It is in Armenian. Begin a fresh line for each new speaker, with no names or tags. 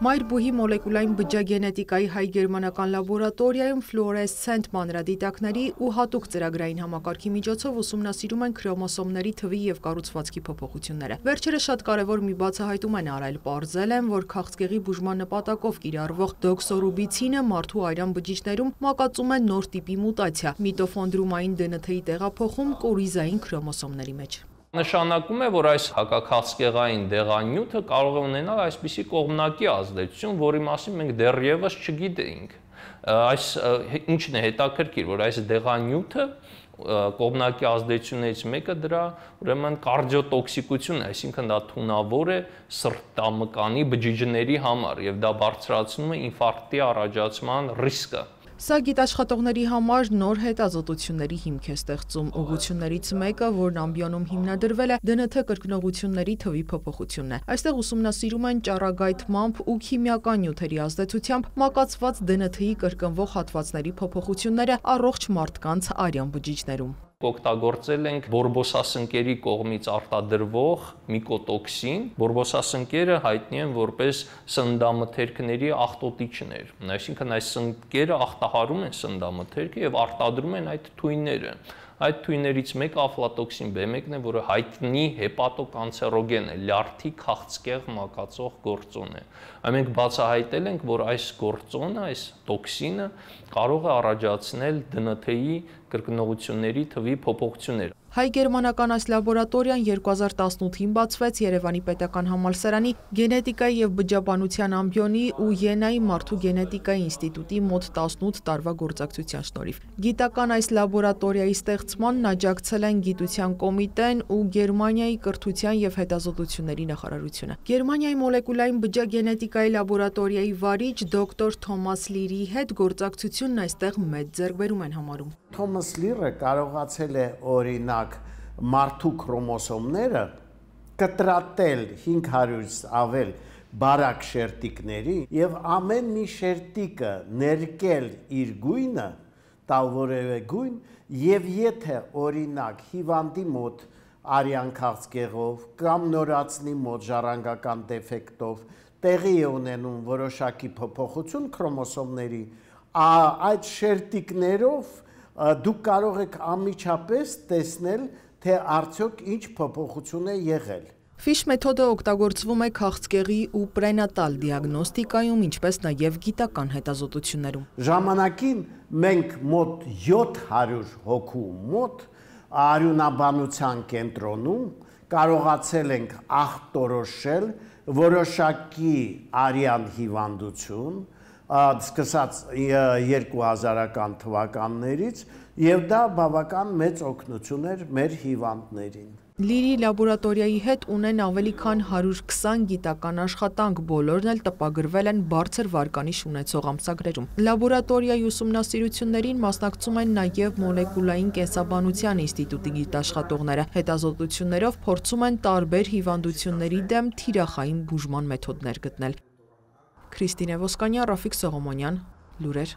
Մայրբուհի մոլեկուլային բջջագենետիկայի հայ-գերմանական լաբորատորիայում ֆլուորեսցենտ մանրադիտակների ու հատուկ ծրագրային համակարգի միջոցով ուսումնասիրում են քրոմոսոմների թվի և կառուցվածքի փոփոխությունները։ Վերջերս շատ կարևոր մի բացահայտում են արել, պարզել են, որ քաղցկեղի բուժման նպատակով կիրառվող դոքսորուբիցինը մարդու արյան բջիջներում մակածում է նոր տիպի մուտացիա՝ միտոխոնդրիումային ԴՆԹ-ի տեղափոխում կորիզային քրոմոսոմների մեջ։
Նշանակում է, որ այս հակաքաղցկեղային դեղանյութը կարող է ունենալ այսպիսի կողմնակի ազդեցություն, որի մասին մենք դեռևս չգիտեինք։ Ինչն է հետաքրքիր, որ այս դեղանյութը կողմնակի ազդեցություններից մեկը դրա ուրեմն կարդիոտոքսիկությունն է, այսինքն դա թունավոր է սրտամկանի բջիջների համար եւ դա բարձրացնում է ինֆարկտի առաջացման ռիսկը։
Սա գիտաշխատողների համար նոր հետազոտությունների հիմք է ստեղծում։ Ուղղություններից մեկը, որն ամբիոնում հիմնադրվել է, ԴՆԹ կրկնողությունների թվի փոփոխությունն է։ Այստեղ ուսումնասիրում են ճառագայթմամբ ու քիմիական նյութերի ազդեցությամբ մակածված ԴՆԹ-ի կրկնվող հատվածների փոփոխությունները առողջ մարդկանց արյան բջիջներում։
Օգտագործել ենք բորբոսասնկերի կողմից արտադրվող միկոտոքսին։ Բորբոսասնկերը հայտնի են որպես սննդամթերքների աղտոտիչներ, այսինքն այս սնկերը աղտահարում են սննդամթերքը եւ արտադրում են այդ թույները։ Այդ թույներից մեկը աֆլատոքսին B1-ն է, որը հայտնի հեպատոկանցերոգեն է, լյարդի քաղցկեղ մակածող գործոն է։ Մենք բացահայտել ենք, որ այս գործոնը, այս տոքսինը կարող է առաջացնել ԴՆԹ-ի կրկնողությունների թվի փոփոխություններ։
Հայ-գերմանական այս լաբորատորիան 2018-ին բացվեց Երևանի պետական համալսարանի գենետիկայի և բջջաբանության ամբիոնի ու Յենայի մարդու գենետիկայի ինստիտուտի մոտ 18 տարվա գործակցության շնորհիվ։ Գիտական այս լաբորատորիայի ստեղծմանն աջակցել են Գիտության կոմիտեն ու Գերմանիայի կրթության և հետազոտությունների նախարարությունը։ Գերմանիայի մոլեկուլային բջջագենետիկայի լաբորատորիայի վարիչ դոկտոր Թոմաս Լիրիի հետ գործակցությունն այստեղ մեծ ձեռքբերում են համարում։
Թոմաս Լիրը կարողացել է օրինակ մարդու քրոմոսոմները կտրատել 500-ից ավել բարակ շերտիկների եւ ամեն մի շերտիկը ներկել իր գույնը, տալ որևէ գույն, եւ եթե օրինակ հիվանդի մոտ արյան քաղցկեղով կամ նորածնի մոտ ժառանգական դեֆեկտով տեղի է ունենում որոշակի փոփոխություն քրոմոսոմների, այդ շերտիկներով դուք կարող եք անմիջապես տեսնել, թե արդյոք ինչ փոփոխություն է եղել։
Ֆիշ մեթոդը օգտագործվում է քաղցկեղի ու պրենատալ դիագնոստիկայում, ինչպես նաև գիտական հետազոտություններում։
Ժամանակին մենք մոտ 700 հոգու մոտ արյունաբանության կենտրոնում կարողացել ենք ախտորոշել որոշակի արյան հիվանդություն, սկսած 2000-ական թվականներից, եւ դա բավական մեծ օգնություն էր մեր հիվանդներին։
Լիրի լաբորատորիայի հետ ունեն ավելի քան 120 գիտական աշխատանք, բոլորն էլ տպագրվել են բարձր վարկանիշ ունեցող ամսագրերում։ Լաբորատորիայի ուսումնասիրություններին մասնակցում են նաև մոլեկուլային կենսաբանության ինստիտուտի գիտաշխատողները։ Հետազոտություններով փորձում են տարբեր հիվանդությունների դեմ թիրախային բուժման մեթոդներ գտնել։ Քրիստինե Ոսկանյան, Ռաֆիկ Սողոմոնյան, լուրեր։